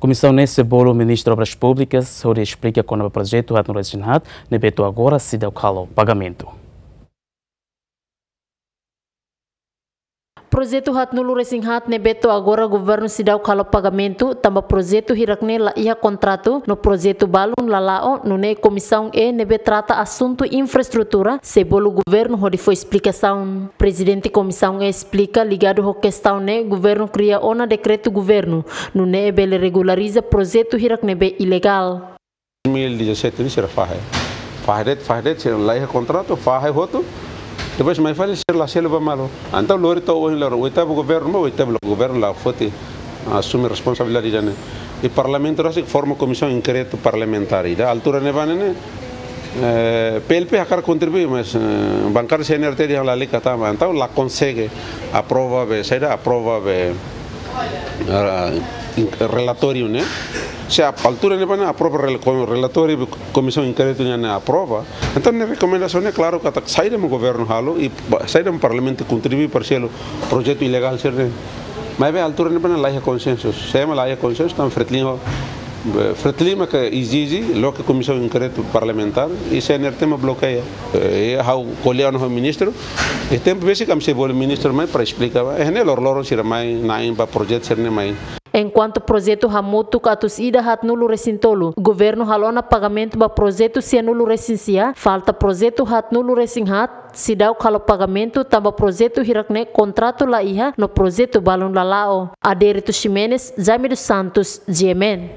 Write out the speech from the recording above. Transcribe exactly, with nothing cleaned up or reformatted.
Komisaun ne'e sei bolu Ministru Obras Públikas hodi esplika kona-ba projetu haatnulu-resin-haat ne'ebé to'o agora seidauk halo pagamentu. Projetu haatnulu-resin-haat ne'ebé to'o agora governu seidauk halo pagamentu, tanba projetu hirak-ne'e la iha kontratu, no projetu balun la la'o, nune'e Komisaun E ne'ebé trata asuntu infraestrutura sei bolu governu hodi fó esplikasaun. Prezidente Komisaun E esplika, ligadu ho kestaun ne'e, governu kria ona dekretu governu, nune'e bele regulariza projetu hirak ne'ebé ilegál. Dois mil e dezassete ne'e sira fahe. Fahe de'it, fahe de'it, sira la iha kontratu, fahe hotu. Depois mai fali sira la selu ba malu. Entaun lori to'o ohin lori oitavu governu, mas oitavu governu la foti asume responsabilidade ida-ne'e. I Parlamentu rasik forma komisaun inkretu parlamentár ida. Altura ne'ebá ne'e, eh, P L P hakarak kontribui, mas, eh, bankada C N R T dehan lalika tama. Entaun la konsege aprova be, saida aprova be, ah, in-, relatóriu ne'e. Se a altura ne'ebá ne'e aprova rel-, ko-, relatóriu be komisaun inkretu ne'e aprova. Entaun ne'e rekomendasaun ne'e klaru katak saida mak governu halo i ba-, saida mak Parlamentu kontribui para selu projetu ilegál sira-ne'e. Maibé altura ne'ebá ne'e la iha konsensu. Se ema la iha konsensu, entaun Fretilin ho, be, Fretilin mak ezije, loke komisaun inkretu parlamentár, i C N R T mak blokeia. Eh, ha'u ko'alia ona ho ministru, i tempu besik ami sei bolu ministru mai para esplika ba. Eh, ne'e loroloron sira mai, na'in ba projetu sira-ne'e mai. Enkuantu projetu hamutuk atus ida haatnulu-resin-tolu, governu halo ona pagamentu ba projetu sianulu-resin-sia, falta projetu haatnulu-resin-haat, seidauk halo pagamentu tanba projetu hirak-ne'e kontratu la iha, no projetu balun la la'o. Adérito Ximenes, Jaime dos Santos, G M N.